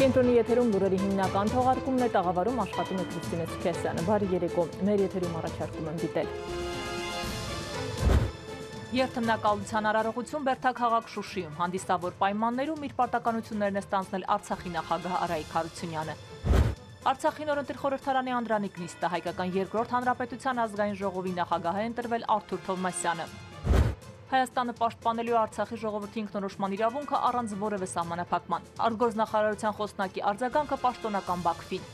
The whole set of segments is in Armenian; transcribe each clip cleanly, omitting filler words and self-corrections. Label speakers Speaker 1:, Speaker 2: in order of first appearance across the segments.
Speaker 1: Կենտրոնի եթերում լուրերի հիմնական թողարկումն է, տաղավարում աշխատում է Քրիստինե Սուքեսյանը։ Բարի երեկո, մեր եթերում առաջարկում եմ դիտել։ Երթմնակալության արարողություն Բերդաքաղաք Շուշիում, հանդիսավոր պայմաններում իր պարտականություններն է ստանձնել Արցախի նախագահ Արայիկ Հարությունյանը։ Արցախի նորընտիր խորհրդարանի Անդրանիկ նիստը, հայկական երկրորդ հանրապետության ազգային ժողովի նախագահ է ընտրվել Արթուր Թովմասյանը։ Հայաստանը պաշտպանելու Արցախի ժողովրդի ինքնորոշման իրավունքը առանց որևէ սահմանափակման։ Արտգործնախարարության խոսնակի արձագանքը պաշտոնական Բաքվին։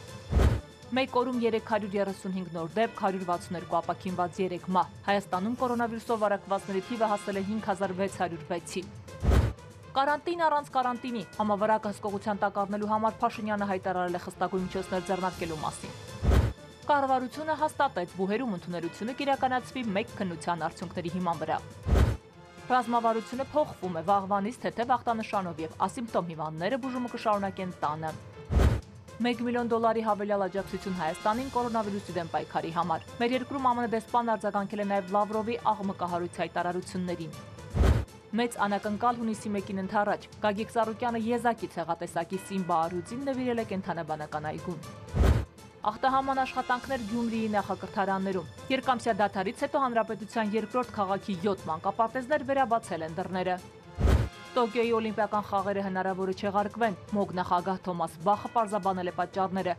Speaker 1: Մեկ օրում 335 նոր դեպք, 162 ապաքինված 3 մահ։ Հայաստանում կորոնավիրուսով վարակվածների թիվը հասել է 5606-ի։ Կարանտին առանց կարանտինի, համավարակը հսկողության տակ առնելու համար Փաշինյանը հայտարարել է խստագույն միջոցներ ձեռնարկելու մասին։ Կառավարությունը հաստատեց բուհերում ընդունելությունը կիրականացվի մեկ քննության արդյունքների հիման վրա։ Ռազմավարությունը փոխվում է վաղվանից թեթև ախտանշանով եւ ասիմպտոմ հիվանդները բուժումը կշարունակեն տանը։ $1 միլիոն հավելյալ աջակցություն Հայաստանին կորոնավիրուսի դեմ պայքարի համար։ Մեր երկրում ԱՄՆ դեսպանն արձագանքել է նաև Լավրովի աղմկահարույց հայտարարություններին։ Մեծ անակնկալ հունիսի 1-ին ընդառաջ Գագիկ Ծառուկյանը եզակի ցեղատեսակի Սիմբա Արուձին նվիրել է կենդանաբանական այգուն։ Ախտահաման աշխատանքներ Գյումրիի նախակրթարաններում։ Երկամսյա դադարից հետո հանրապետության երկրորդ քաղաքի 7 մանկապարտեզներ վերաբացել են դռները։ Տոկիոյի օլիմպիական խաղերը հնարավոր է չեղարկվեն։ ՄՕԳ նախագահ Թոմաս Բախը պարզաբանել է պատճառները։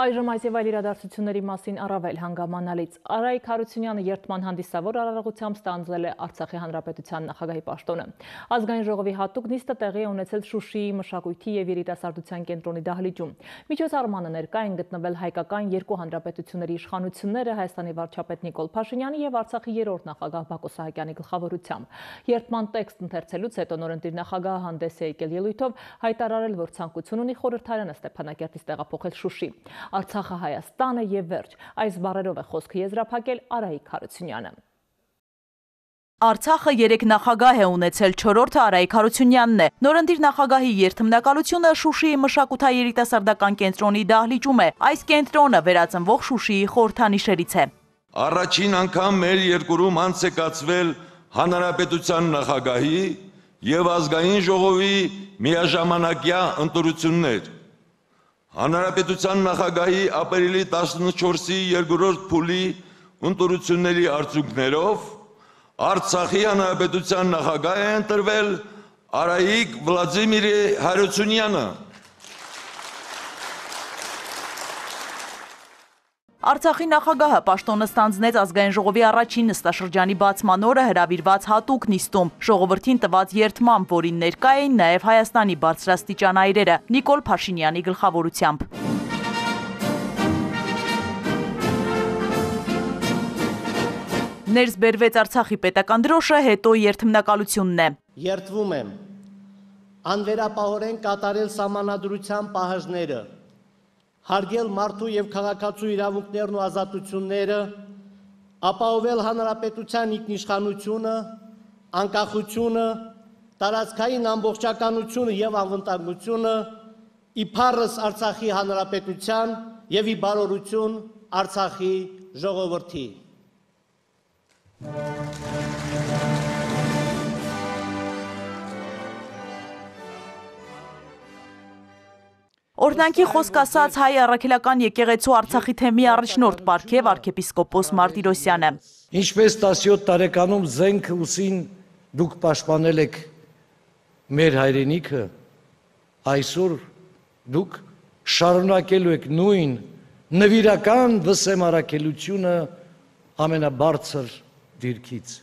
Speaker 1: Այժմ այս եւ այլ իրադարձությունների մասին առավել հանգամանալից։ Արայիկ Հարությունյանը երթման հանդիսավոր արարողությամբ ստանձնել է Արցախի հանրապետության նախագահի պաշտոնը։ Ազգային ժողովի հատուկ նիստը տեղի է ունեցել Շուշիի մշակույթի եւ երիտասարդության կենտրոնի դահլիճում։ Միջոցառմանը ներկա են գտնվել հայկական երկու հանրապետությունների իշխանությունները Հայաստանի վարչապետ Նիկոլ Փաշինյանի եւ Արցախի երրորդ նախագահ Բակո Սահակյանի գլխավորությամբ։ Երթման տեքստ ընթերցելուց հետո նորընտիր նախագահը հանդես է եկել ելույթով հայտարարել, որ ցանկություն ունի խորհրդարանը Ստեփանակերտից տեղափոխել Շուշի։ Արցախը Հայաստանը եւ վերջ, այս բառերով է խոսքը եզրափակել Արայիկ Հարությունյանը։
Speaker 2: Արցախը 3 նախագահ է ունեցել, 4-րդը Արայիկ Հարությունյանն է։ Նորընտիր նախագահի երթմնակալությունը Շուշիի մշակութայերիտասարդական կենտրոնի դահլիճում է։ Այս կենտրոնը վերածնվող Շուշիի խորհրդանիշերից է։
Speaker 3: Առաջին անգամ մեր երկրում անց է կացվել հանրապետության նախագահի եւ ազգային ժողովի միաժամանակյա ընտրություններ։ Հանրապետության նախագահի ապրիլի 14-ի երկրորդ փուլի ընտրությունների արդյունքներով Արցախի հանրապետության նախագահ է ընտրվել Արայիկ Վլադիմիր Հարությունյանը։
Speaker 2: Արցախի նախագահը պաշտոնը ստանձնեց ազգային ժողովի առաջին նստաշրջանի բացման օրը հրավիրված հատուկ նիստում ժողովրդին տված երթմամբ, որին ներկա էին նաև Հայաստանի բարձրաստիճան այրերը Նիկոլ Փաշինյանի գլխավորությամբ։ Ներս բերվեց Արցախի պետական դրոշը, հետո երթմնակալությունն է։
Speaker 4: Երթվում եմ անվերապահորեն կատարել սահմանադրության պահանջները, հարգել մարդու եւ քաղաքացու իրավունքներն ու ազատությունները, ապահովել հանրապետության ինքնիշխանությունը, անկախությունը, տարածքային ամբողջականությունը եւ անվտանգությունը, իբարս Արցախի հանրապետության եւ ի բարօրություն Արցախի ժողովրդի։
Speaker 2: Օրհնանքի խոսք ասաց հայ առաքելական եկեղեցու Արցախի թեմի առաջնորդ պարգև arczepiskopos Martirosyan-ը։
Speaker 5: Ինչպես 17 տարեկանում զենք ուսին դուք պաշտպանել եք մեր հայրենիքը, այսօր դուք շարունակելու եք նույն նվիրական վսեմարակելությունը ամենաբարձր դիրքից։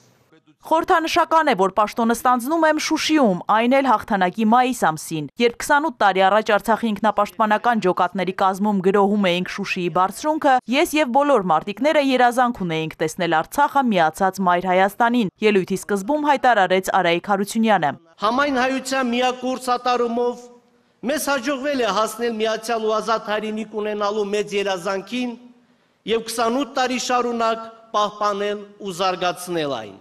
Speaker 2: Խորհրդանշական է, որ պաշտոնը ստանձնում եմ Շուշիում, այն էլ հաղթանակի մայիս ամսին, երբ 28 տարի առաջ Արցախի ինքնապաշտպանական ջոկատների կազմում գրոհում էինք Շուշիի բարձրունքը, ես եւ բոլոր մարտիկները երազանք ունեինք տեսնել Արցախը միացած Մայր Հայաստանին, ելույթի սկզբում հայտարարեց Արայիկ Հարությունյանը։
Speaker 4: Համայն հայության միակուրս ատարումով մեզ հաջողվել է հասնել միացյալ ու ազատ հայրենիք ունենալու մեծ երազանքին եւ 28 տարի շարունակ պահպանել ու զարգացնել այն։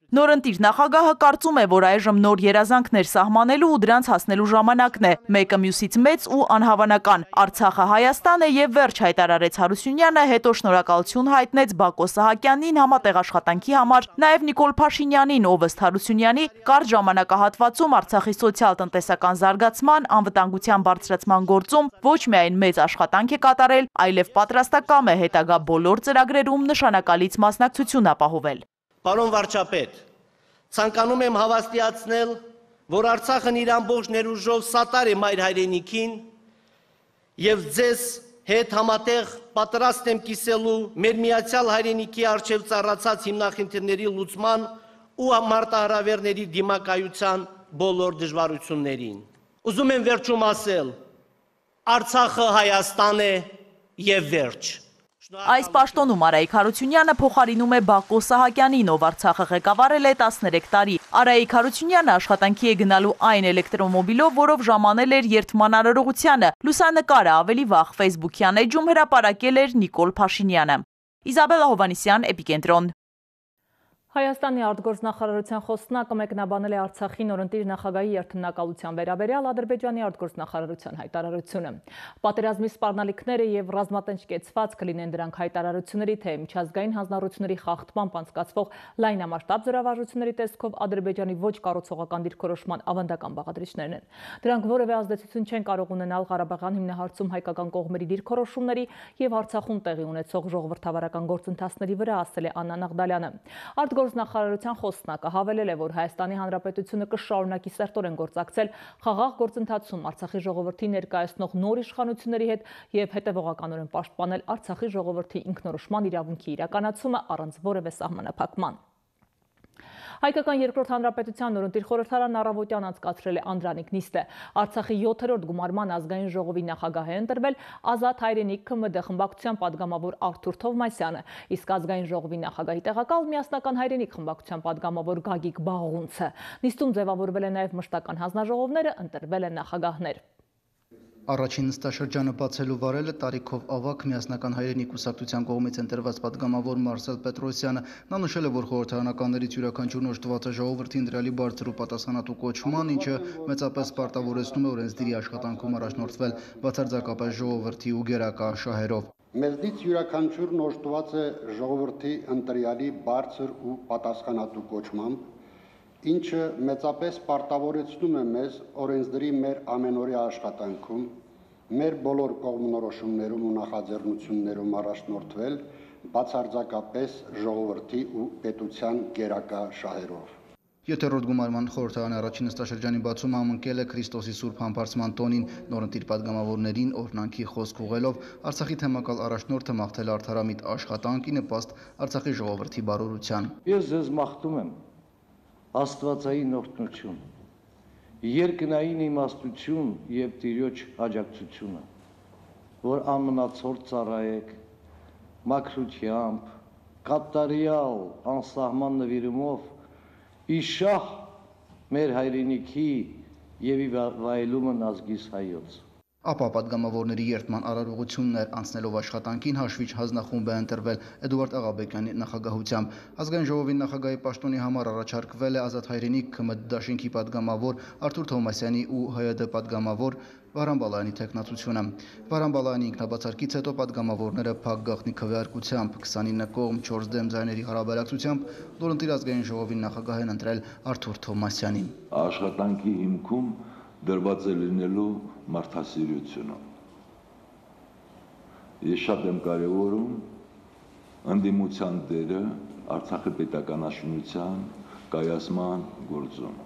Speaker 2: Նորընտիր նախագահը կարծում է, որ այժմ նոր երազանքներ սահմանելու ու դրանց հասնելու ժամանակն է, մեկը մյուսից մեծ ու անհավանական։ Արցախը Հայաստան է եւ վերջ հայտարարեց Հարությունյանը, հետո շնորհակալություն հայտնեց Բակո Սահակյանին համատեղ աշխատանքի համար, նաեւ Նիկոլ Փաշինյանին, ով ըստ Հարությունյանի կարճ ժամանակահատվածում Արցախի սոցիալ-տնտեսական զարգացման, անվտանգության բարձրացման գործում ոչ միայն մեծ աշխատանք է կատարել, այլև պատրաստակամ է հետագա բոլոր ծրագրերում նշանակալից մասնակցություն ապահովել։
Speaker 4: Պարոն վարչապետ, ցանկանում եմ հավաստիացնել, որ Արցախն իր ամբողջ ներուժով սատար է մայր հայրենիքին եւ ձեզ հետ համատեղ պատրաստ եմ կիսելու մեր միացյալ հայրենիքի արժեվ ծառացած հիմնախնդիրների լուծման ու մարտահրավերների դիմակայության բոլոր դժվարություններին։ Ուզում եմ վերջում ասել. Արցախը Հայաստան է եւ վերջ։
Speaker 2: Այս պաշտոնում Արայիկ Հարությունյանը փոխարինում է Բակո Սահակյանին, ով Արցախը ղեկավարել է 13 տարի։ Արայիկ Հարությունյանը աշխատանքի է գնալու այն էլեկտրոմոբիլով, որով ժամանել էր երթման արարողությանը։ Լուսանկարը ավելի վաղ Facebook-յան էջում հրապարակել էր Նիկոլ Փաշինյանը։ Իզաբելլա Հովանիսյան, Էպիկենտրոն։
Speaker 1: Հայաստանի արտգործնախարարության խոսնակը մեկնաբանել է Արցախի նորընտիր նախագահի երթնակալության վերաբերյալ Ադրբեջանի արտգործնախարարության հայտարարությունը։ Պատերազմի սպառնալիքները եւ ռազմատենչ կեցված կլինեն դրանք հայտարարությունների, թե միջազգային հանձնառությունների խախտմամբ անցկացվող լայնամասշտաբ զորավարժությունների տեսքով Ադրբեջանի ոչ կառուցողական դիրքորոշման ավանդական բաղադրիչներն են։ Դրանք որևէ ազդեցություն չեն կարող ունենալ Ղարաբաղյան հիմնահարցում հայկական կողմերի դիրքորոշումների եւ Արցախում տեղի ունեցող ժողովրդավարական գործընթացների վրա, ասել է Աննա Նաղդալյանը։ Արտգործնախարարության խոսնակը հավելել է, որ Հայաստանի Հանրապետությունը կշարունակի սերտորեն գործակցել խաղաղ գործընթացում Արցախի ժողովրդի ներկայացնող նոր իշխանությունների հետ եւ հետեւողականորեն պաշտպանել Արցախի ժողովրդի ինքնորոշման իրավունքի իրականացումը առանց որևէ սահմանափակման։ Հայկական երկրորդ հանրապետության նորընտիր խորհրդարանն առավոտյան անցկացրել է Անդրանիկ նիստը։ Արցախի 7-րդ գումարման ազգային ժողովի նախագահ է ընտրվել Ազատ հայրենիք ԿՄԴ խմբակցության падգամավոր Արթուր Թովմասյանը, իսկ ազգային ժողովի նախագահի տեղակալ Միասնական հայրենիք խմբակցության падգամավոր Գագիկ Բաղունցը։ Նիստում ձևավորվել է նաև մշտական հանձնաժողովները, ընտրվել են նախագահներ։
Speaker 6: Առաջին նստաշրջանը բացելու վարել է տարիքով ավագ Միասնական հայրենիք կուսակցության կողմից ընտրված падգամավոր Մարսել Պետրոսյանը։ Նա նշել է, որ խորհրդարանականներից յուրաքանչյուրն օժտված է ժողովրդի ընտրյալի բարձր ու պատասխանատու կոչման, ինչը մեծապես պարտավորեցնում է օրենսդիրի աշխատանքում առաջնորդվել բացարձակապես ժողովրդի ու գերակա շահերով։
Speaker 7: Մեզնից յուրաքանչյուրն օժտված է ժողովրդի ընտրյալի բարձր ու պատասխանատու կոչմամբ, ինչը մեծապես պարտավորեցնում է մեզ օրենսդրի մեր ամենօրյա աշխատանքում, մեր բոլոր կողմնորոշումներում ու նախաձեռնություններում առաջնորդվել բացարձակապես ժողովրդի ու պետության գերակա շահերով։
Speaker 6: 7-րդ գումարման խորհրդարանի առաջին նստաշրջանի բացումը համընկել է Քրիստոսի Սուրբ Համբարձման տոնին, նորընտիր падգամավորներին օրհնանքի խոսք ուղղելով Արցախի թեմակալ առաջնորդը մաղթել արդարամիտ աշխատանքի նպաստ Արցախի ժողովրդի բարօրության։
Speaker 5: Ես ձեզ մաղթում եմ Աստվածային օրհնություն, երկնային իմաստություն եւ Տիրոջ աջակցությունը, որ անմնացորդ ծառայեք մաքրությամբ, կատարյալ անսահման նվիրումով իշահ մեր հայրենիքի եւ վայելումն ազգիս հայոց։
Speaker 6: Ապա падգամավորների երթման արարողություններ անցնելով աշխատանքին հաշվիչ հանձնախումբ է ընտրվել Էդուարդ Աղաբեկյանի նախագահությամբ։ Ազգային ժողովի նախագահի պաշտոնի համար առաջարկվել է Ազատ հայրենիք ԿՄԴ դաշինքի падգամավոր Արթուր Թովմասյանի ու ՀՅԴ падգամավոր Վարան Բալայանի թեկնածությունը։ Վարան Բալայանի ինքնաբացարկից հետո падգամավորները փակ գաղտնի քվեարկությամբ 29 կողմ 4 դեմ ձայների հարաբերակցությամբ նորընտիր ազգային ժողովի նախագահ են ընտրել Արթուր Թովմասյանին։
Speaker 3: Աշխատանքի հիմքում դրված է լինելու մարդասիրությունը։ Ես շատ եմ կարևորում ընդդիմության դերը Արցախի պետականաշինության կայացման գործում։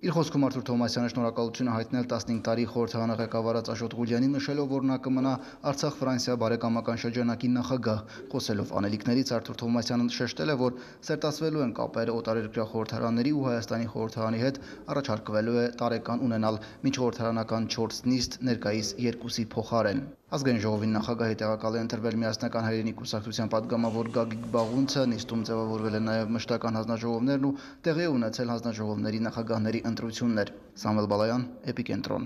Speaker 6: Իր խոսքում Արթուր Թովմասյանը շնորհակալություն է հայտնել 15 տարի խորհրդարանը ղեկավարած Աշոտ Ղուլյանին, նշելով, որ նա կմնա Արցախ-Ֆրանսիա բարեկամական շրջանակի նախագահ։ Խոսելով անելիքներից Արթուր Թովմասյանը շեշտել է, որ սերտացվելու են կապերը օտարերկրյա խորհրդարանների ու Հայաստանի խորհրդարանի հետ, առաջարկվելու է տարեկան ունենալ միջխորհրդարանական 4 նիստ, ներկայիս 2-ի փոխարեն։ Ազգային ժողովի նախագահի տեղակալ է ընտրվել Միասնական հայրենիք կուսակցության падգամավոր Գագիկ Բաղունցը, նիստում ձևավորվել են նաև մշտական հանձնաժողովներն ու տեղի ունեցել հանձնաժողովների նախագահների ընտրություններ։ Սամվել Բալայան, Էպիկենտրոն։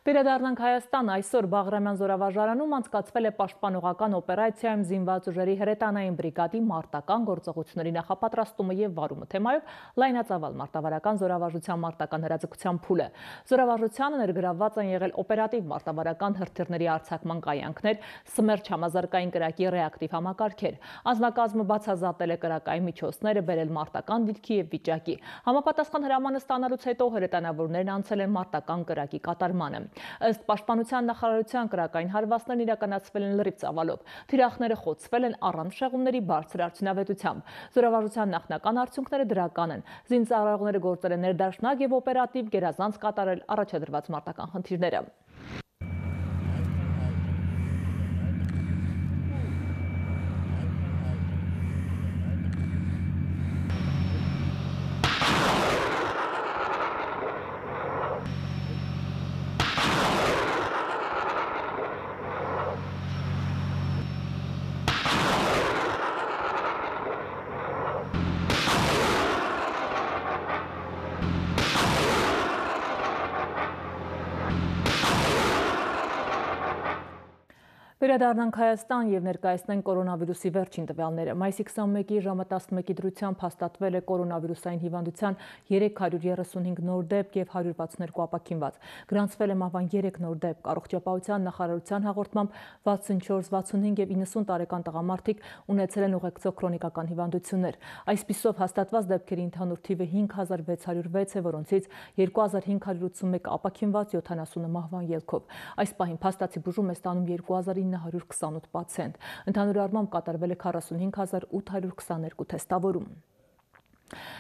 Speaker 1: Վերադառնանք Հայաստան, այսօր Բաղրամյան զորավարժարանում անցկացվել է պաշտպանողական օպերացիայում զինված ուժերի հրետանային բրիգադի մարտական գործողությունների նախապատրաստումը եւ վարումը թեմայով լայնածավալ մարտավարական զորավարժության մարտական հրաձգության փուլը։ Զորավարժությանը ներգրավված են եղել օպերատիվ մարտավարական հրթիռների արձակման կայանքներ, Սմերչ համազարգային կրակի ռեակտիվ համակարգեր։ Անձնակազմը բացազատել է կրակային միջոցները, բերել մարտական դիրքի եւ վիճակի։ Համապատասխան հրամանը ստանալուց հետո հրետանավորներն անցել են մարտական կրակի կատարմանը։ Ըստ Պաշտպանության նախարարության կրակային հարվածներն իրականացվել են լրիվ ծավալով։ Թիրախները խոցվել են առանց շեղումների բարձր արդյունավետությամբ։ Զորավարժության նախնական արդյունքները դրական են։ Զինծառայողները գործել են ներդաշնակ եւ օպերատիվ գերազանց կատարել առաջադրված մարտական խնդիրները։ Վերադառնանք Հայաստան եւ ներկայացնենք կորոնավիրուսի վերջին տվյալները։ Մայիսի 21-ի ժամը 11-ի դրությամբ հաստատվել է կորոնավիրուսային հիվանդության 335 նոր դեպք եւ 162 ապաքինված։ Գրանցվել է մահվան 3 նոր դեպք։ Առողջապահության նախարարության հաղորդմամբ 64, 65 եւ 90 տարեկան տղամարդիկ ունեցել են ուղեկցող քրոնիկական հիվանդություններ։ Այսպիսով հաստատված դեպքերի ընդհանուր թիվը 5606 է, որոնցից 2581 ապաքինված, 70-ը մահվան ելքով։ Այս պահին փաստացի բուժում է ստանում 2928 պացիենտ։ Ընդհանուր առմամբ կատարվել է 45822 թեստավորում։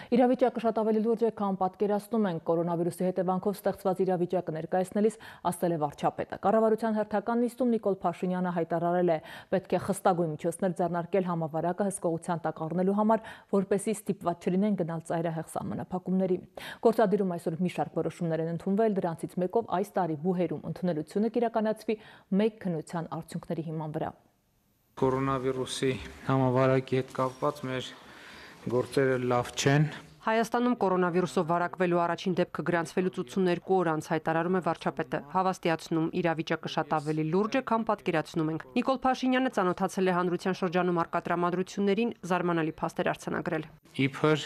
Speaker 1: Իրավիճակը շատ ավելի լուրջ է, քան պատկերացնում են կորոնավիրուսի հետևանքով ստեղծված իրավիճակը ներկայացնելիս, ասել է վարչապետը։ Կառավարության հերթական նիստում Նիկոլ Փաշինյանը հայտարարել է, պետք է խստագույն միջոցներ ձեռնարկել համավարակը հսկողության տակ առնելու համար, որպեսզի ստիպված չլինեն գնալ ծայրահեղ սահմանափակումների։ Գործադիրում այսօր մի շարք որոշումներ են ընդունվել, դրանցից մեկով այս տարի բուհերում ընդունելությունը կիրականացվի մեկ քննության արդյունքների հիման վրա։
Speaker 8: Կորոնավիրուսի համավարակի հետ կապված մեր գործերը լավ չեն։
Speaker 9: Հայաստանում կորոնավիրուսով վարակվելու առաջին դեպքը գրանցվելուց 82 օր անց հայտարարում է վարչապետը, հավաստիացնում իրավիճակը շատ ավելի լուրջ է, քան պատկերացնում ենք։ Նիկոլ Փաշինյանը ծանոթացել է հանրության շրջանում առկա տրամադրություններին, զարմանալի փաստեր արձանագրել։
Speaker 8: Իբր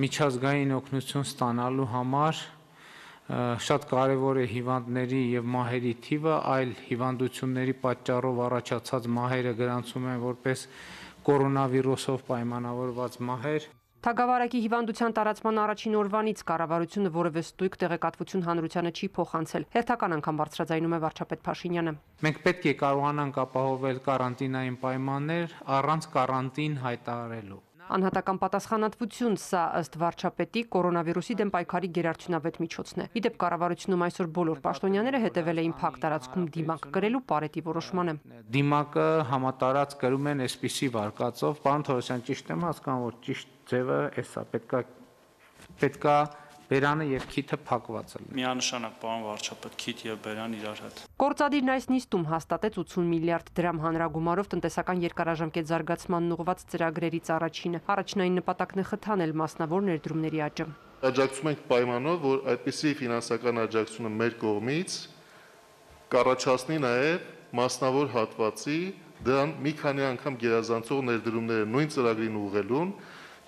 Speaker 8: միջազգային օգնություն ստանալու համար շատ կարևոր է հիվանդների եւ մահերի թիվը, այլ հիվանդությունների պատճառով առաջացած մահերը գրանցում են որպես կորոնավիրուսով պայմանավորված մահեր։
Speaker 9: Թագավարակի հիվանդության տարածման առաջին օրվանից կառավարությունը որևէ ստույգ տեղեկատվություն հանրությանը չի փոխանցել։ Հերթական անգամ բարձրաձայնում է վարչապետ Փաշինյանը։
Speaker 8: Մենք պետք է կարողանանք ապահովել կարանտինային պայմաններ առանց կարանտին հայտարարելու։
Speaker 9: Անհատական պատասխանատվություն, սա ըստ վարչապետի կորոնավիրուսի դեմ պայքարի գերարդյունավետ միջոցն է։ Իդեպ կառավարությունում այսօր բոլոր պաշտոնյաները հետևել էին փակ տարածքում դիմակ կրելու Պարետի որոշմանը։
Speaker 8: Դիմակը համատարած կրում են այսպիսի վարկածով, պարոն Թորոսյան, ճիշտ եմ հասկանում, որ ճիշտ ձևը էսա պետքա բերանը եւ քիթը փակված է։
Speaker 10: Միանշանակ, պարոն վարչապետ, քիթ եւ բերան իրար հետ։
Speaker 9: Գործադիրն այս նիստում հաստատեց 80 միլիարդ դրամ հանրագումարով տնտեսական երկարաժամկետ զարգացմանն ուղղված ծրագրերից առաջինը։ Առաջնային նպատակն է խթանել մասնավոր ներդրումների աճը։
Speaker 11: Աջակցում ենք պայմանով, որ այդպիսի ֆինանսական աջակցությունը մեր կողմից կառաջացնի նաեւ մասնավոր հատվածի դրան մի քանի անգամ գերազանցող ներդրումները նույն ծրագրին ուղղելուն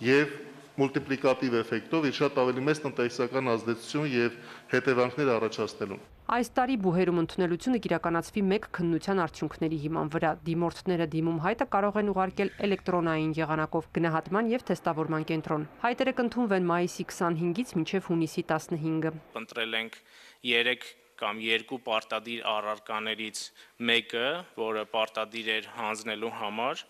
Speaker 11: եւ մուլտիպլիկատիվ էֆեկտով իր շատ ավելի մեծ տնտեսական ազդեցություն եւ հետևանքներ առաջացնելուն։
Speaker 9: Այս տարի բուհերում ընդունելությունը կիրականացվի մեկ քննության արդյունքների հիման վրա։ Դիմորդները դիմում հայտը կարող են ուղարկել էլեկտրոնային եղանակով գնահատման եւ թեստավորման կենտրոն։ Հայտերը կընդունվեն մայիսի 25-ից մինչեւ հունիսի 15-ը։
Speaker 12: Ընտրել ենք 3 կամ 2 պարտադիր առարկաներից մեկը, որը պարտադիր էր հանձնելու համար,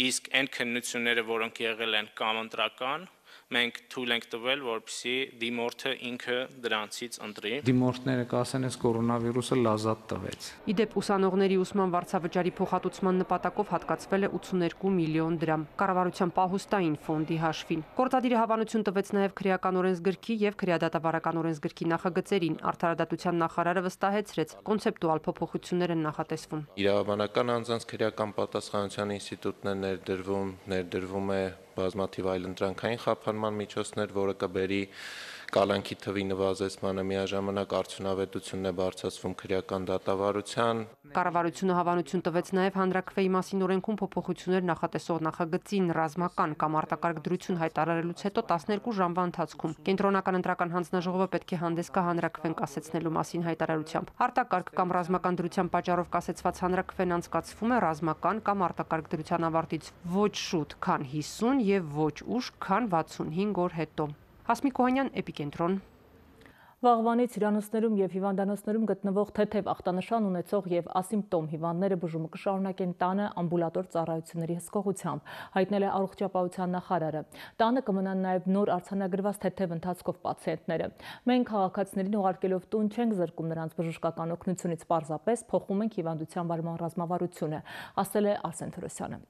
Speaker 12: իսկ այն քննությունները, որոնք եղել են կամ ընտրական, մենք թույլ ենք տվել, որպեսզի դիմորդը ինքը դրանցից ընտրի։
Speaker 8: Դիմորդները կասեն, այս կորոնավիրուսը լազատ տվեց։
Speaker 9: Իդեպ ուսանողների ուսման վարձավճարի փոխհատուցման նպատակով հատկացվել է 82 միլիոն դրամ կառավարության պահուստային ֆոնդի հաշվին։ Գործադիրը հավանություն տվեց նաև քրեական օրենսգրքի եւ քրեադատավարական օրենսգրքի նախագծերին։ Արդարադատության նախարարը վստահեցրեց, կոնցեպտուալ փոփոխություններ են նախատեսվում։
Speaker 13: Իրավաբանական անձանց քրեական պատասխանատվության ինստիտուտն է ներդրվում է բազմաթիվ այլ ընտրանքային խափանման միջոցներ, որը կբերի կալանքի թվի նվազեցմանը, միաժամանակ արդյունավետությունն է բարձրացվում քրեական դատավարության։
Speaker 9: Կառավարությունը հավանություն տվեց նաև հանրաքվեի մասին օրենքում փոփոխություններ նախատեսող նախագծին ռազմական կամ արտակարգ դրություն հայտարարելուց հետո 12 ժամվա ընթացքում կենտրոնական ընտրական հանձնաժողովը պետք է հանդես գա հանրաքվեն կասեցնելու մասին հայտարարությամբ։ Արտակարգ կամ ռազմական դրության պատճառով կասեցված հանրաքվեն անցկացվում է ռազմական կամ արտակարգ դրության ավարտից ոչ շուտ, քան 50 եւ ոչ ուշ, քան 65 օր հետո։ Հասմիկ Օհանյան, Էպիկենտրոն։
Speaker 1: Վաղվանից հյուրանոցներում և հիվանդանոցներում գտնվող թեթև ախտանշան ունեցող և ասիմպտոմ հիվանդները բուժումը կշարունակեն տանը ամբուլատոր ծառայությունների հսկողությամբ, հայտնել է առողջապահության նախարարը։ Տանը կմնան նաև նոր արձանագրված թեթև ընթացքով պացիենտները։ Մենք քաղաքացիներին ուղարկելով տուն չենք զրկում նրանց բժշկական օգնությունից, պարզապես փոխում ենք հիվանդության վարման ռազմավարությունը, ասել է Արսեն Թորոսյանը։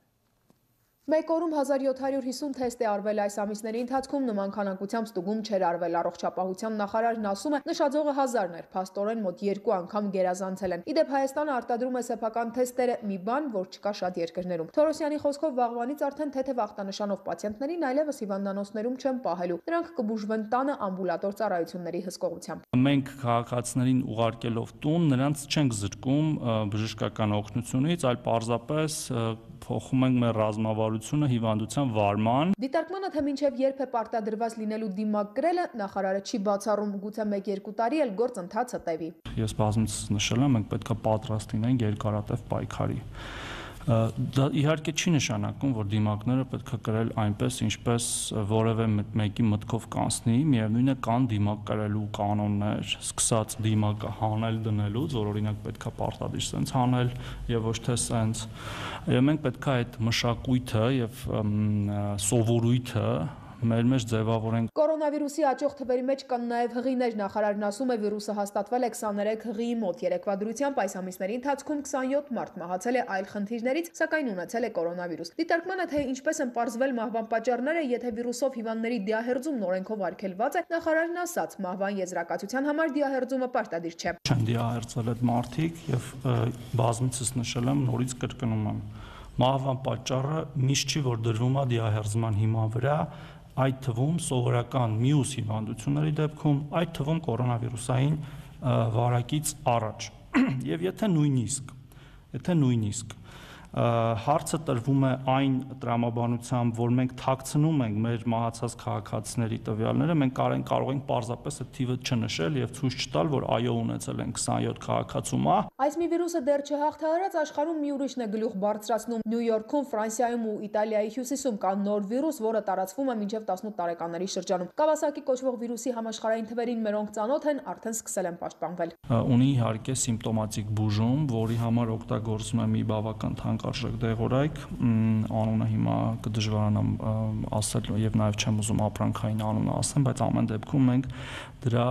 Speaker 14: Մեկ օրում 1750 թեստ է արվել այս ամիսների ընթացքում, նման քանակությամբ ստուգում չէր արվել։ Առողջապահության նախարարն ասում է, նշաձողը 1000-ն էր, փաստորեն մոտ 2 անգամ գերազանցել են։ Իդեպ Հայաստանը արտադրում է սեփական թեստերը, մի բան, որ չկա շատ երկրներում։ Թորոսյանի խոսքով վաղվանից արդեն թեթև ախտանշանով պացիենտներին այլևս հիվանդանոցներում չեն պահելու։ Նրանք կբուժվեն տանը ամբուլատոր ծառայությունների հսկողությամբ։
Speaker 15: Մենք քաղաքացիներին ուղարկելով տուն նրանց չենք զրկում բժշկական օգնությունից, այլ պարզապես փոխում ենք մեր ռազմավարությունը հիվանդության վարման։
Speaker 14: Դիտարկմանը թե մինչև երբ է պարտադրված լինելու դիմակ կրելը նախարարը չի բացառում, գուցե 1-2 տարի էլ գործընթացը տևի։
Speaker 15: Ես բազմիցս նշել եմ, մենք պետք է պատրաստ լինենք երկարատև պայքարի։ Դա իհարկե չի նշանակում, որ դիմակները պետք է կրել այնպես, ինչպես որևէ մեկի մտքով կանցնի, միևնույն է կան դիմակ կրելու կանոններ, սկսած դիմակը հանել դնելուց, որ օրինակ պետք է պարտադիր սենց հանել եւ ոչ թե սենց։ Եվ մենք պետք է այդ մշակույթը եւ սովորույթը մեր մեջ ձևավորենք։
Speaker 14: Կորոնավիրուսի աճող թվերի մեջ կան նաև հղիներ, նախարարն ասում է, վիրուսը հաստատվել է 23 հղիի մոտ, երեկվա դրությամբ այս ամիսների ընթացքում 27 մարդ մահացել է այլ խնդիրներից, սակայն ունեցել է կորոնավիրուս։ Դիտարկմանը թե ինչպես են պարզվել մահվան պատճառները, եթե վիրուսով հիվանդների դիահերձումն օրենքով արգելված է, նախարարն ասաց, մահվան եզրակացության համար դիահերձումը պարտադիր չէ։
Speaker 15: Չեն դիահերձել այդ մարդիկ եւ բազմիցս նշել եմ, նորից կրկնում եմ, մահվան պատճառը միշտ չի, որ դրվում է դիահերձման հիման վրա, այդ թվում սովորական մյուս հիվանդությունների դեպքում, այդ թվում կորոնավիրուսային վարակից առաջ։ Եվ եթե նույնիսկ հարցը տրվում է այն տրամաբանությամբ, որ մենք թաքցնում ենք մեր մահացած քաղաքացիների տվյալները, մենք կարող ենք պարզապես այդ թիվը չնշել եւ ցույց չտալ, որ այո ունեցել են 27 քաղաքացու մահ։
Speaker 14: Այս մի վիրուսը դեռ չհաղթահարած աշխարհում մի ուրիշն է գլուխ բարձրացնում։ Նյու Յորքում, Ֆրանսիայում ու Իտալիայի հյուսիսում կա նոր վիրուս, որը տարածվում է մինչև 18 տարեկանների շրջանում։ Կավասակի կոչվող վիրուսի համաշխարհային թվերին մերոնք ծանոթ են, արդեն սկսել են պաշտպանվել։
Speaker 15: Ունի իհարկե սիմպտոմատիկ բուժում, որի համար օգտագործվում է մի բավական թանկարժեք դեղորայք, անունը հիմա կդժվարանամ ասել եւ նաեւ չեմ ուզում ապրանքային անունը ասեմ, բայց ամեն դեպքում մենք դրա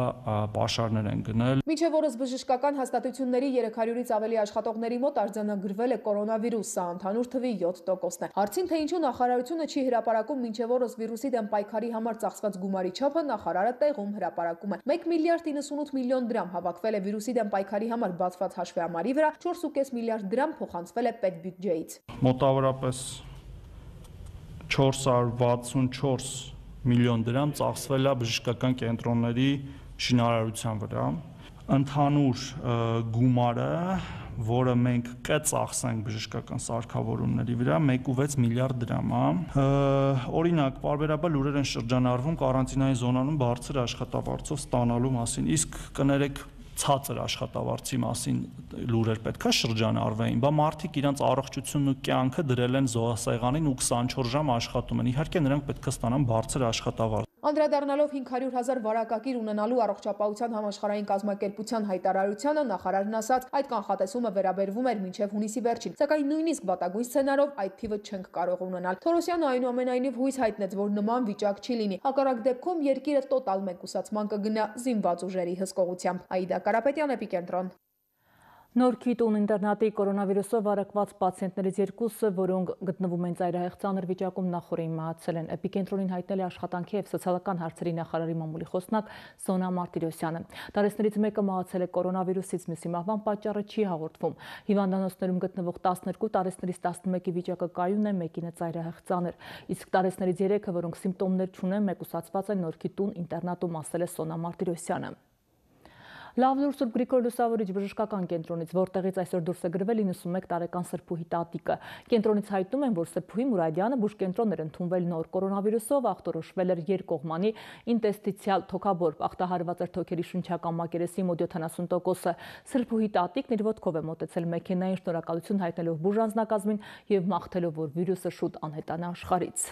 Speaker 15: պաշարներ են գնել։
Speaker 14: Մինչև օրս բժշկական հաստատությունների 300-ից ավելի աշխատողների մոտ արձանագրվել է կորոնավիրուս, սա ընդհանուր թվի 7%-ն է։ Հարցին թե ինչու նախարարությունը չի հրապարակում մինչև օրս վիրուսի դեմ պայքարի համար ծախսված գումարի չափը, նախարարը տեղում հրապարակում է։ 1 միլիարդ 98 միլիոն դրամ հավաքվել է վիրուսի դեմ պայքարի համար բացված հաշվեհամարի վրա, 4.5 միլիարդ դրամ փոխանցվել է պետբյուջեից։
Speaker 15: Մոտավորապես 464 միլիոն դրամ ծախսվել է բժշկական կենտրոնների շինարարության վրա։ Ընդհանուր գումարը, որը մենք կծախսենք բժշկական սարքավորումների վրա, 1.6 միլիարդ դրամ է։ Օրինակ, պարբերաբար լուրեր են շրջանառվում կարանտինային զոնանում բարձր աշխատավարձով ստանալու մասին, իսկ կներեք ցածր աշխատավարձի մասին լուրեր պետք է շրջանառվեին, բա մարդիկ իրենց առողջությունն ու կյանքը դրել են զոհասեղանին ու 24 ժամ աշխատում են։ Իհարկե նրանք պետք է ստանան բարձր աշխատավարձ։
Speaker 14: Անդրադառնալով 500,000 վարակակիր ունենալու առողջապահության համաշխարհային կազմակերպության հայտարարությանը, նախարարն ասաց, այդ կանխատեսումը վերաբերվում էր մինչև հունիսի վերջին, սակայն նույնիսկ վատագույն սցենարով այդ թիվը չենք կարող ունենալ։ Թորոսյանը այնուամենայնիվ հույս հայտնեց, որ նման վիճակ չի լինի։ Հակառակ դեպքում երկիրը տոտալ մեկուսացման կգնա զինված ուժերի հսկողությամբ։ Աիդա Կարապետյան, Էպիկենտրոն։
Speaker 1: Նորքի տուն ինտերնատի կորոնավիրուսով առակված պացիենտներից երկուսը, որոնք գտնվում են ծայրահեղ ծանր վիճակում, նախորդին մահացել են։ Էպիկենտրոնին հայտնել է աշխատանքի և սոցիալական հարցերի նախարարի մամուլի խոսնակ Սոնա Մարտիրոսյանը։ Տարեցներից մեկը մահացել է կորոնավիրուսից, մյուսի մահվան պատճառը չի հաղորդվում։ Հիվանդանոցներում գտնվող 12 տարեցներից 11-ի վիճակը կայուն է, մեկինը ծայրահեղ ծանր։ Իսկ տարեցներից 3-ը, որոնք սիմպտոմներ չունեն, մեկուսացված են Նորքի տուն ինտերնատում, ասել է Սոնա Մարտիրոսյանը։ Լավլուր Սուրբ Գրիգոր Լուսավորիչ բժշկական կենտրոնից, որտեղից այսօր դուրս է գրվել 91 տարեկան Սրբուհի տատիկը։ Կենտրոնից հայտնում են, որ Սրբուհի Մուրադյանը բուժկենտրոն էր ընդունվել նոր կորոնավիրուսով, ախտորոշվել էր երկկողմանի ինտեստիցիալ թոքաբորբ, ախտահարված էր թոքերի շնչական մակերեսի մոտ 70%-ը։ Սրբուհի տատիկն իր ոտքով է մոտեցել մեքենային, շնորհակալություն հայտնելով բուժանձնակազմին և մաղթելով, որ վիրուսը շուտ անհետանա աշխարհից։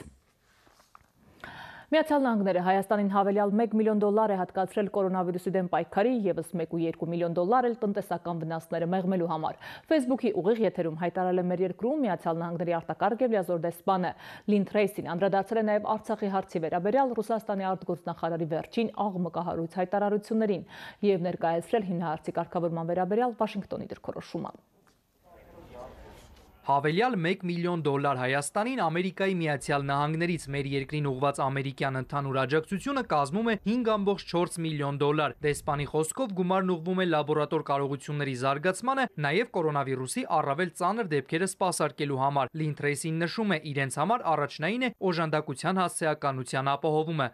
Speaker 1: Միացյալ Նահանգները Հայաստանին հավելյալ $1 միլիոն է հատկացրել կորոնավիրուսի դեմ պայքարի, ևս $1.2 միլիոն էլ տնտեսական վնասները մեղմելու համար։ Facebook-ի ուղիղ եթերում հայտարարել է մեր երկրում Միացյալ Նահանգների արտակարգ և լիազոր դեսպանը Լին Թրեյսին, անդրադարձել է նաև Արցախի հարցի վերաբերյալ Ռուսաստանի արտգործնախարարի վերջին աղմկահարույց հայտարարություններին և ներկայացրել հիմնահարցի կարգավորման վերաբերյալ Վաշինգտոնի դիրքորոշումը։
Speaker 16: Հավելյալ $1 միլիոն Հայաստանին Ամերիկայի Միացյալ Նահանգներից մեր երկրին ուղղված ամերիկյան ընդհանուր աջակցությունը կազմում է $5.4 միլիոն։ Դեսպանի խոսքով գումարն ուղղվում է լաբորատոր կարողությունների զարգացմանը, նաև կորոնավիրուսի առավել ծանր դեպքերը սպասարկելու համար։ Լին Թրեյսին նշում է, իրենց համար առաջնային է օժանդակության հասցեականության ապահովումը։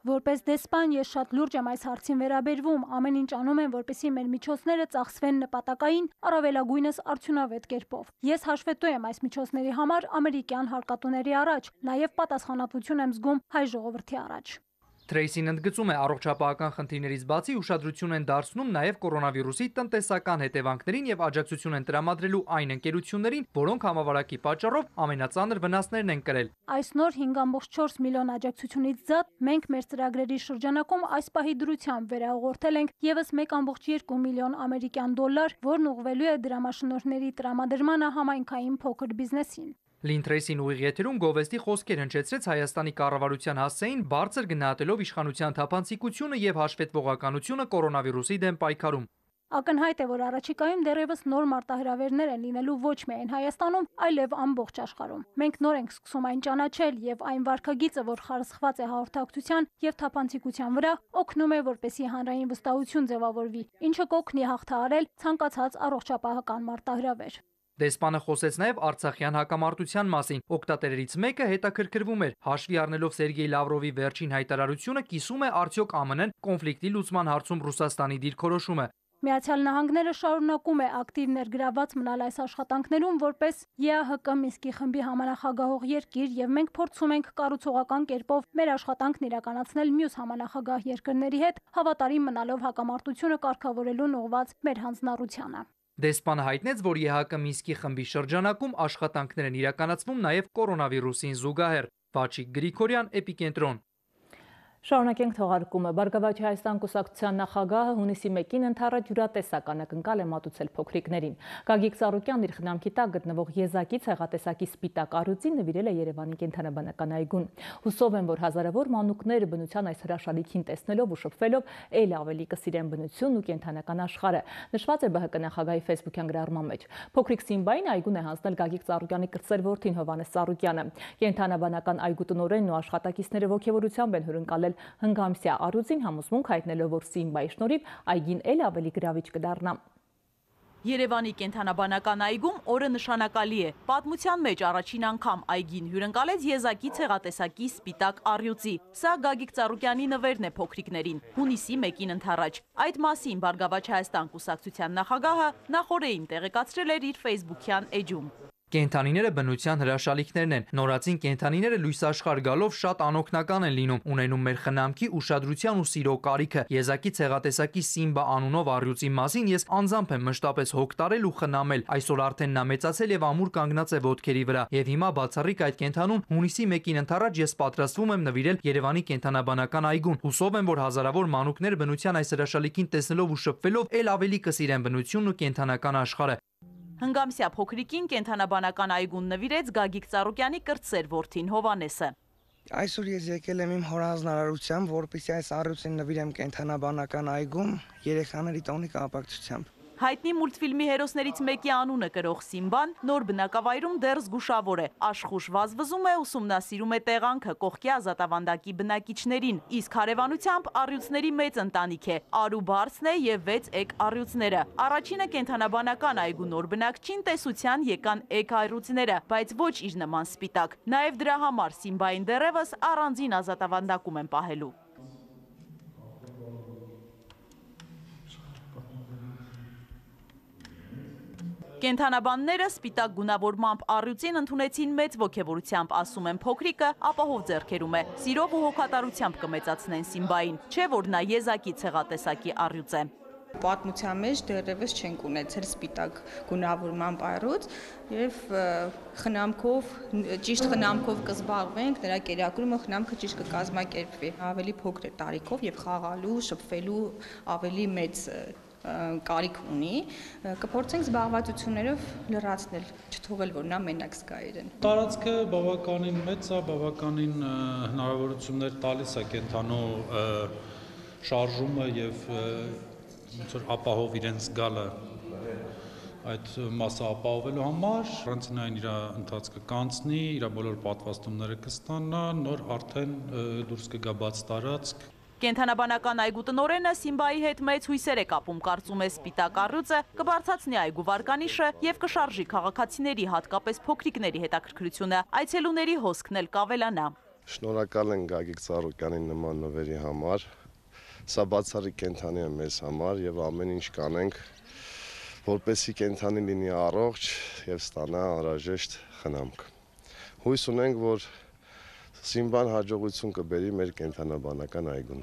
Speaker 17: Որպես դեսպան ես շատ լուրջ եմ այս հարցին վերաբերվում, ամեն ինչ անում եմ, որպեսզի մեր միջոցները ծախսվեն նպատակային, առավելագույնս արդյունավետ կերպով։ Ես հաշվետու եմ այս միջոցների համար ամերիկյան հարկատուների առաջ, նաև պատասխանատվություն եմ զգում հայ ժողովրդի առաջ։
Speaker 16: Թրեյսին ընդգծում է, առողջապահական խնդիրներից բացի ուշադրություն են դարձնում նաև կորոնավիրուսի տնտեսական հետևանքներին և աջակցություն են տրամադրելու այն ընկերություններին, որոնք համավարակի պատճառով ամենածանր վնասներն են կրել։
Speaker 17: Այս նոր $5.4 միլիոն աջակցությունից զատ մենք մեր ծրագրերի շրջանակում այս պահի դրությամբ վերահաղորդել ենք ևս $1.2 միլիոն ամերիկյան դոլար, որն ուղղվելու է դրամաշնորհների տրամադրմանը համայնքային փոքր բիզնեսին։
Speaker 16: Լին Թրեյսին ուղիղ եթերում գովեստի խոսքեր հնչեցրեց Հայաստանի կառավարության հասցեին, բարձր գնահատելով իշխանության թափանցիկությունը և հաշվետվողականությունը կորոնավիրուսի դեմ պայքարում։
Speaker 17: Ակնհայտ է, որ առաջիկայում դեռևս նոր մարտահրավերներ են լինելու ոչ միայն Հայաստանում, այլև ամբողջ աշխարհում։ Մենք նոր ենք սկսում այն ճանաչել և այն վարքագիծը, որ խարսխված է հաղորդակցության և թափանցիկության վրա, օգնում է, որպեսզի հանրային վստահություն ձևավորվի, ինչը կօգնի հաղթահարել ցանկացած առողջապահական մարտահրավեր։
Speaker 16: Դեսպանը խոսեց նաև Արցախյան հակամարտության մասին։ Օգտատերերից մեկը հետաքրքրվում էր, հաշվի առնելով Սերգեյ Լավրովի վերջին հայտարարությունը, կիսում է արդյոք ԱՄՆ-ն կոնֆլիկտի լուծման հարցում Ռուսաստանի դիրքորոշումը։
Speaker 17: Միացյալ Նահանգները շարունակում է ակտիվ ներգրավված մնալ այս աշխատանքներում որպես ԵԱՀԿ Մինսկի խմբի համանախագահող երկիր և մենք փորձում ենք կառուցողական կերպով մեր աշխատանքն իրականացնել մյուս համանախագահ երկրների հետ, հավատարիմ մնալով հակամարտությունը կարգավորելուն ուղղված մեր հանձնառությանը։
Speaker 16: Դեսպանը հայտնեց, որ ԵԱՀԿ Մինսկի խմբի շրջանակում աշխատանքներ են իրականացվում նաև կորոնավիրուսին զուգահեռ։ Վաչիկ Գրիգորյան, Էպիկենտրոն։
Speaker 1: Շարունակենք թողարկումը։ Բարգավաճ Հայաստան կուսակցության նախագահը հունիսի 1-ին ընդառաջ յուրատեսական ակնկալ է մատուցել փոքրիկներին։ Գագիկ Ծառուկյանն իր խնամքի տակ գտնվող եզակի ցեղատեսակի սպիտակ առյուծին նվիրել է Երևանի կենդանաբանական այգուն։ Հուսով եմ, որ հազարավոր մանուկները բնության այս հրաշալիքին տեսնելով ու շփվելով ել ավելի կսիրեն բնությունն ու կենդանական աշխարհը, նշված է ԲՀԿ նախագահի Facebook-յան գրառման մեջ։ Փոքրիկ Սիմբային այգուն է հանձնել Գագիկ Ծառուկյանի կրտսեր որդին Հովհաննես Ծառուկյանը։ Կենդանաբանական այգու տնօրենն ու աշխատակիցները ողջավորությամբ են հյուրընկալել հնգամսյա առյուծին, համոզմունք հայտնելով, որ Սիմբայի շնորհիվ այգին ել ավելի գրավիչ կդառնա։
Speaker 2: Երևանի կենդանաբանական այգում օրը նշանակալի է։ Պատմության մեջ առաջին անգամ այգին հյուրընկալեց եզակի ցեղատեսակի սպիտակ առյուծի։ Սա Գագիկ Ծառուկյանի նվերն է փոքրիկներին, հունիսի 1-ին ընդառաջ։ Այդ մասին Բարգավաճ Հայաստան կուսակցության նախագահը նախորդին տեղեկացրել էր իր Facebook-յան էջում։
Speaker 16: Կենդանիները բնության հրաշալիքներն են։ Նորածին կենդանիները լույս աշխարհ գալով շատ անօգնական են լինում, ունենում մեր խնամքի, ուշադրության ու սիրո կարիքը։ Եզակի ցեղատեսակի Սիմբա անունով առյուծի մասին ես անձամբ եմ մշտապես հոգ տարել ու խնամել։ Այսօր արդեն նա մեծացել եւ ամուր կանգնած է ոտքերի վրա։ Եվ հիմա բացառիկ այդ կենդանուն հունիսի 1-ին ընդառաջ ես պատրաստվում եմ նվիրել Երևանի կենդանաբանական այգուն։ Հուսով եմ, որ հազարավոր մանուկներ բնության այս հրաշալիքին տեսնելով ու շփվելով ել ավելի կսիրեն բնությունն ու կենդանական աշխարհը։
Speaker 2: Հնգամսյա փոքրիկին կենդանաբանական այգուն նվիրեց Գագիկ Ծառուկյանի կրտսեր որդին Հովհաննեսը։
Speaker 18: Այսօր ես եկել եմ իմ հոր հանձնարարությամբ, որպեսզի այս առյուծին նվիրեմ կենդանաբանական այգում երեխաների տոնի կապակցությամբ։
Speaker 2: Հայտնի մուլտֆիլմի հերոսներից մեկի անունը կրող Սիմբան նոր բնակավայրում դեռ զգուշավոր է, աշխուժ վազվզում է, ուսումնասիրում է տեղանքը կողքի ազատավանդակի բնակիչներին, իսկ հարևանությամբ առյուծների մեծ ընտանիք է, Արու Բարսն է և 6 էգ առյուծները։ Առաջինը կենդանաբանական այգու նոր բնակչին տեսության եկան էգ առյուծները, բայց ոչ իր նման սպիտակ։ Նաև դրա համար Սիմբային դեռևս առանձին ազատավանդակում են պահելու։ Կենդանաբանները սպիտակ գունավորմամբ առյուծին ընդունեցին մեծ ոգևորությամբ, ասում են փոքրիկը ապահով ձեռքերում է, սիրով ու հոգատարությամբ կմեծացնեն Սիմբային, չէ որ նա եզակի ցեղատեսակի առյուծ է։
Speaker 19: Պատմության մեջ դեռևս չենք ունեցել սպիտակ գունավորման առյուծ եւ ճիշտ խնամքով կզբաղվենք, նրա կերակրումը խնամքը ճիշտ կկազմակերպվի։ Ավելի փոքր տարիքով եւ խաղալու, շփվելու ավելի մեծ կարիք ունի, կփորձենք զբաղվածություններով լրացնել, չթողել, որ նա մենակ զգա իրեն։
Speaker 20: Տարածքը բավականին մեծ է, բավականին հնարավորություններ տալիս է կենդանու շարժումը եւ ապահով իրեն զգալը այդ մասը ապահովելու համար, առանցնային իր ընթացքը կանցնի, իր բոլոր պատվաստումները կստանա, նոր արդեն դուրս կգա բաց տարածք։
Speaker 2: Կենդանաբանական այգու տնօրենը Սիմբայի հետ մեծ հույսեր է կապում, կարծում է սպիտակ առյուծը կբարձրացնի այգու վարկանիշը եւ կշարժի քաղաքացիների, հատկապես փոքրիկների հետաքրքրությունը, այցելուների հոսքն էլ կավելանա։
Speaker 21: Շնորհակալ ենք Գագիկ Ծառուկյանի նման նվերի համար։ Սա բացառիկ կենդանի է մեզ համար եւ ամեն ինչ կանենք, որպեսզի կենդանի լինի առողջ եւ ստանա անհրաժեշտ խնամք։ Հույս ունենք, որ Սիմբան հաջողություն կբերի մեր կենդանաբանական այգուն։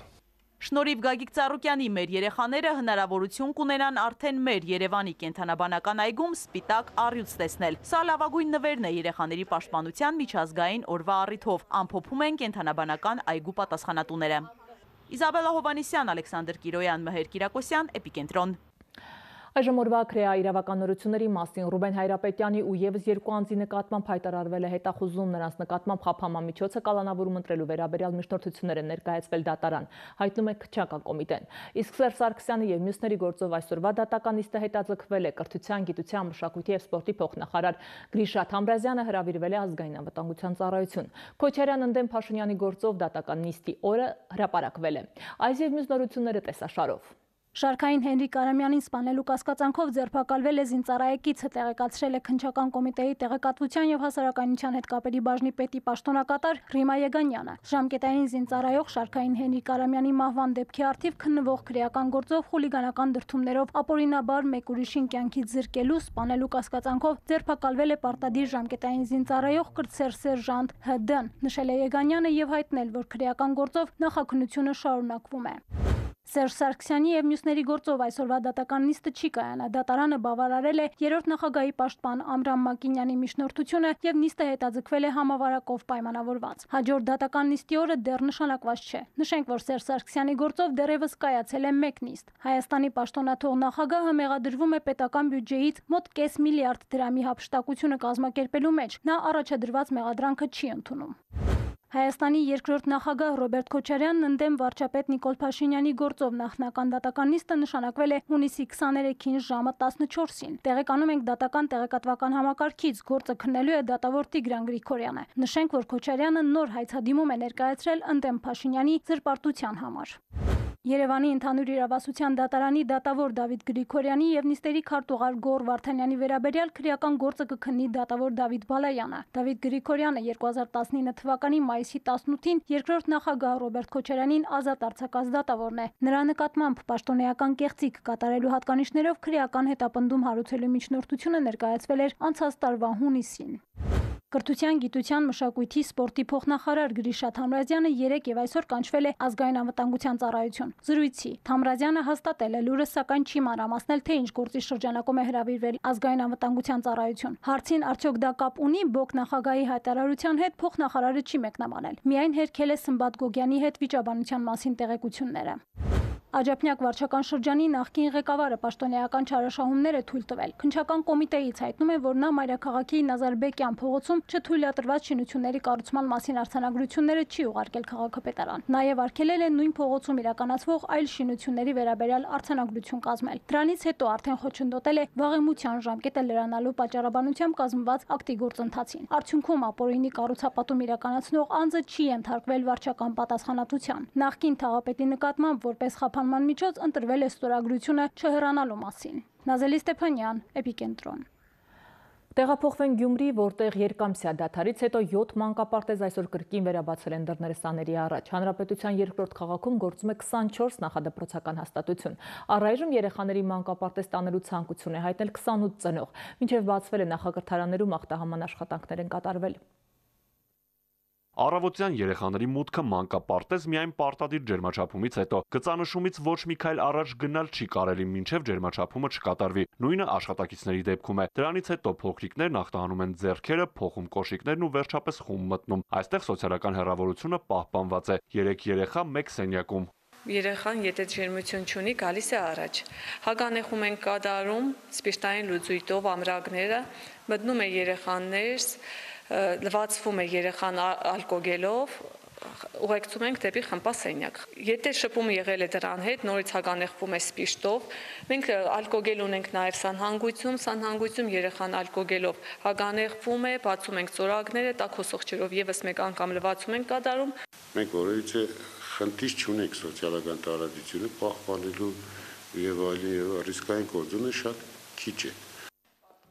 Speaker 2: Շնորհիվ Գագիկ Ծառուկյանի մեր երեխաները հնարավորություն կունենան արդեն մեր Երևանի կենդանաբանական այգում սպիտակ առյուծ տեսնել։ Սա լավագույն նվերն է երեխաների պաշտպանության միջազգային օրվա առիթով, ամփոփում են կենդանաբանական այգու պատասխանատուները։ Իզաբելլա Հովանեսյան, Ալեքսանդր Կիրոյան, Մհեր Կիրակոսյան, Էպիկենտրոն։
Speaker 1: Այժմ օրվա քրեա իրավականությունների մասին Ռուբեն Հայրապետյանի ու եւս երկու անձի նկատմամբ հայտարարվել է հետախուզում, նրանց նկատմամբ խափանամիջոցը կալանավորում ընտրելու վերաբերյալ միջնորդություններ են ներկայացվել դատարան, հայտնում է քրեական կոմիտեն։ Իսկ Սերժ Սարգսյանի եւ մյուսների գործով այսօրվա դատական նիստը հետաձգվել է կրթության, գիտության, մշակույթի եւ սպորտի փոխնախարար Գրիշա Թամրազյանը հրավիրվել է ազգային անվտանգության ծառայություն։ Քոչարյան ընդդեմ Փաշինյանի գործով դատական նիստի օրը հրապարակվել է։ Այս եւ մյուս նորությունները տեսաշարով։
Speaker 17: Շարքային Հենրիկ Արամյանին սպանելու կասկածանքով ձերբակալվել է զինծառայեկիցը, տեղեկացրել է քննչական կոմիտեի տեղեկատվության եւ հասարակայնության հետ կապերի բաժնի պետի պաշտոնակատար Ռիմա Եգանյանը։ Ժամկետային զինծառայող Շարքային Հենրիկ Արամյանի մահվան դեպքի առթիվ քննվող քրեական գործով խուլիգանական դրդումներով ապօրինաբար մեկ ուրիշին կյանքից զրկելու, սպանելու կասկածանքով ձերբակալվել է պարտադիր ժամկետային զինծառայող կրտսեր սերժանտ Հ.Դ.-ն, նշել է Եգանյանը եւ հայտնել, որ քրեական գործով նախաքննությունը շարունակվում է։ Սերժ Սարգսյանի եւ մյուսների գործով այսօրվա դատական նիստը չի կայանա։ Դատարանը բավարարել է երրորդ նախագահի պաշտպան Ամրամ Մակինյանի միջնորդությունը եւ նիստը հետաձգվել է համավարակով պայմանավորված։ Հաջորդ դատական նիստի օրը դեռ նշանակված չէ։ Նշենք, որ Սերժ Սարգսյանի գործով դեռևս կայացել է մեկ նիստ։ Հայաստանի պաշտոնաթող նախագահը մեղադրվում է պետական բյուջեից մոտ 0.5 միլիարդ դրամի հափշտակությունը կազմակերպելու մեջ։ Նա առաջադրված մեղադրանքը չի ընդունում։ Հայաստանի երկրորդ նախագահ Ռոբերտ Քոչարյանն ընդդեմ վարչապետ Նիկոլ Փաշինյանի գործով նախնական դատական նիստը նշանակվել է հունիսի 23-ին ժամը 14-ին։ Տեղեկանում ենք դատական տեղեկատվական համակարգից, գործը քննելու է դատավոր Տիգրան Գրիգորյանը։ Նշենք, որ Քոչարյանը նոր հայցադիմում է ներկայացրել ընդդեմ Փաշինյանի զրպարտության համար։ Երևանի ընդհանուր իրավասության դատարանի դատավոր Դավիթ Գրիգորյանի եւ նիստերի քարտուղար Գոռ Վարդանյանի վերաբերյալ քրեական գործը կքննի դատավոր Դավիթ Բալայանը։ Դավիթ Գրիգորյանը 2019 թվականի մայիսի 18-ին երկրորդ նախագահ Ռոբերտ Քոչարյանին ազատ արձակած դատավորն է։ Նրա նկատմամբ պաշտոնեական կեղծիք կատարելու հատկանիշներով քրեական հետապնդում հարուցելու միջնորդությունը ներկայացվել էր անցած տարվա հունիսին։ Կրթության, գիտության, մշակույթի, սպորտի փոխնախարար Գրիշա Թամրազյանը 3 եւ այսօր կանչվել է ազգային անվտանգության ծառայություն։ Զրույցի Թամրազյանը հաստատել է լուրը, սակայն չի մանրամասնել, թե ինչ գործի շրջանակում է հրավիրվել ազգային անվտանգության ծառայություն։ Հարցին արդյոք դա կապ ունի ԲՕԿ նախագահի հայտարարության հետ, փոխնախարարը չի մեկնաբանել։ Միայն հերքել է Սմբատ Գոգյանի հետ վիճաբանության մասին տեղեկությունները։ Աջափնյակ վարչական շրջանի նախկին ղեկավարը պաշտոնեական չարաշահումներ է թույլ տվել։ Քննչական կոմիտեից հայտնում է, որ նա Մայրաքաղաքի Նազարբեկյան փողոցում չթույլատրված շինությունների կառուցման մասին արձանագրությունները չի ուղարկել քաղաքապետարան։ Նաև արգելել է նույն փողոցում իրականացվող այլ շինությունների վերաբերյալ արձանագրություն կազմել։ Դրանից հետո արդեն խոչընդոտել է վաղեմության ժամկետը լրանալու պատճառաբանությամբ կազմված ակտի գործընթացին։ Արդյունքում ապօրինի կառուցապատում իրականացնող անձը չի ենթարկվել վարչական պատասխանատվության։ Նախկին թաղապետի նկատմամբ որպես խափանման միջոց ընտրվել է ստորագրությունը չհեռանալու մասին։ Նազելի Ստեփանյան, Էպիկենտրոն։
Speaker 1: Տեղափոխվեն Գյումրի, որտեղ երկամսյա դադարից հետո 7 մանկապարտեզ այսօր կրկին վերաբացել են դռները սաների առաջ։ Հանրապետության երկրորդ քաղաքում գործում է 24 նախադպրոցական հաստատություն։ Առայժմ երեխաների մանկապարտեզ տանելու ցանկություն է հայտնել 28 ծնող։ Մինչև բացվել է նախակրթարաններում ախտահաման աշխատանքներ են կատարվել։
Speaker 4: Առավոտյան երեխաների մուտքը մանկապարտեզ միայն պարտադիր ջերմաչափումից հետո, գծանշումից ոչ մի քայլ առաջ գնալ չի կարելի, մինչև ջերմաչափումը չկատարվի։ Նույնը աշխատակիցների դեպքում է։ Դրանից հետո փոքրիկներն ախտահանում են ձեռքերը, փոխում կոշիկներն ու վերջապես խումբ մտնում։ Այստեղ սոցիալական հեռավորությունը պահպանված է։ 3 երեխա 1 սենյակում։
Speaker 22: Երեխան եթե ջերմություն չունի, գալիս է առաջ։ Հագանեխում են կատարում, սպիրտային լուծույթով ամրակները, մտնում է երեխաներ, լվացվում է երեխան ալկոգելով, ուղեկցում ենք դեպի խմբասենյակ։ Եթե շփումը եղել է դրան հետ, նորից հագանեխվում է սպիրտով։ Մենք ալկոգել ունենք նաև սանհանգույցում երեխան ալկոգելով հագանեխվում է, բացում ենք ծորակները, տաք հոսողջերով եւս մեկ անգամ լվացում ենք կատարում։
Speaker 23: Մենք որևիցե խնդիր չունենք սոցիալական տարածությունը պահպանելու եւ այլն, ռիսկային գործոնը շատ քիչ է։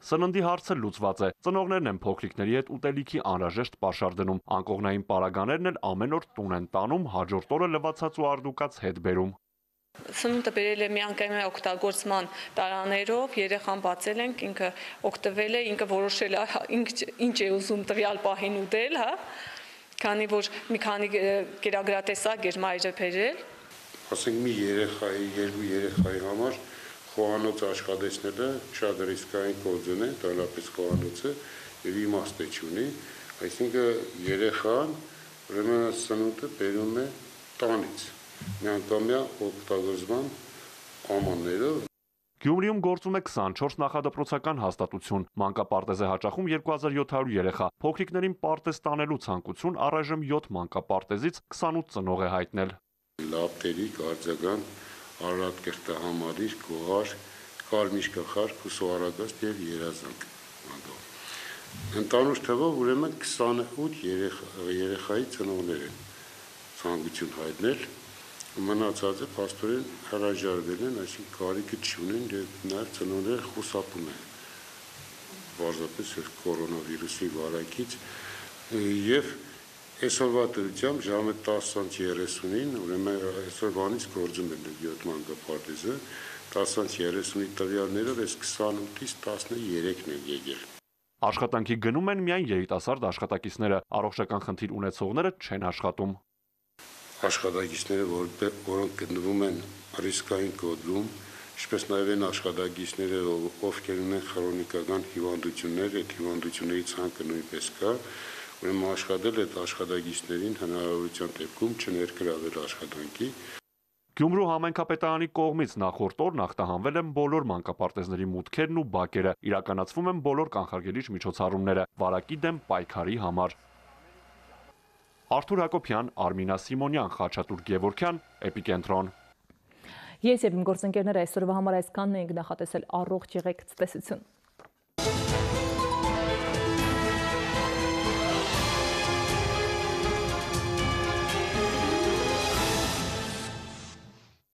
Speaker 4: Սննդի հարցը լուծված է։ Ծնողներն են փոքրիկների հետ ուտելիքի անհրաժեշտ պաշար դնում։ Անկողնային պարագաներն էլ ամեն օր տուն են տանում, հաջորդ օրը լվացած ու արդուկած հետ բերում։
Speaker 22: Սնունդը բերել է միանգամյա օգտագործման տարաներով, երեխան բացել ենք, ինքը օգտվել է, ինքը որոշել է ինչ է ուզում տվյալ պահին ուտել, հա։ Քանի որ մի քանի կերակրատեսակ էր մայրը բերել։
Speaker 23: Ասենք մի երեխայի, երկու երեխայի համար խոհանոց աշխատեցնելը շատ ռիսկային գործոն է, տալապես խոհանոցը եւ իմաստ չունի, այսինքն երեխան ուրեմն սնունդը բերում է տանից, միանգամյա օգտագործման ամաններով։
Speaker 4: Գյումրիում գործում է 24 նախադպրոցական հաստատություն։ Մանկապարտեզ է հաճախում 2700 երեխա։ Փոքրիկներին պարտեզ տանելու ցանկություն առայժմ 7 մանկապարտեզից 28 ծնող է հայտնել։
Speaker 23: Լապտերիկ, արձագանք, Արարատ կրտահամալիր, գոհար, կարմիշկախարկ, ուսուարագաստ եւ երազանք։ Ընդանուր թվով ուրեմն 28 երեխայի ծնողներ են ցանկություն հայտնել, մնացածը փաստորեն հրաժարվել են, այսինքն կարիքը չունեն եւ նաեւ ծնողները խուսափում են։ Բարձրապես կորոնավիրուսի վարակից եւ այսօրվա դրությամբ ժամը 10:30-ին, ուրեմն այսօրվանից գործում է 7 մանկապարտեզը, 10:30-ի տվյալներով այս 28-ից 13-ն են եկել։
Speaker 4: Աշխատանքի գնում են միայն երիտասարդ աշխատակիցները, առողջական խնդիր ունեցողները չեն աշխատում։
Speaker 23: Աշխատակիցները, որոնք գտնվում են ռիսկային կոդում, ինչպես նաև են աշխատակիցները, ովքեր ունեն քրոնիկական հիվանդություններ, այդ հիվանդությունների ցանկը նույնպես կա, ուրեմն աշխատել այդ աշխատակիցներին հնարավորության դեպքում չներգրավել աշխատանքի։
Speaker 4: Գյումրու համայնքապետարանի կողմից նախորդ օրն ախտահանվել են բոլոր մանկապարտեզների մուտքերն ու բակերը, իրականացվում են բոլոր կանխարգելիչ միջոցառումները վարակի դեմ պայքարի համար։ Արթուր Հակոբյան, Արմինա Սիմոնյան, Խաչատուր Գևորգյան, Էպիկենտրոն։
Speaker 1: Ես եւ իմ գործընկերները այսօրվա համար այսքանն ենք, նախատեսել առողջ եղեք, ցտեսություն։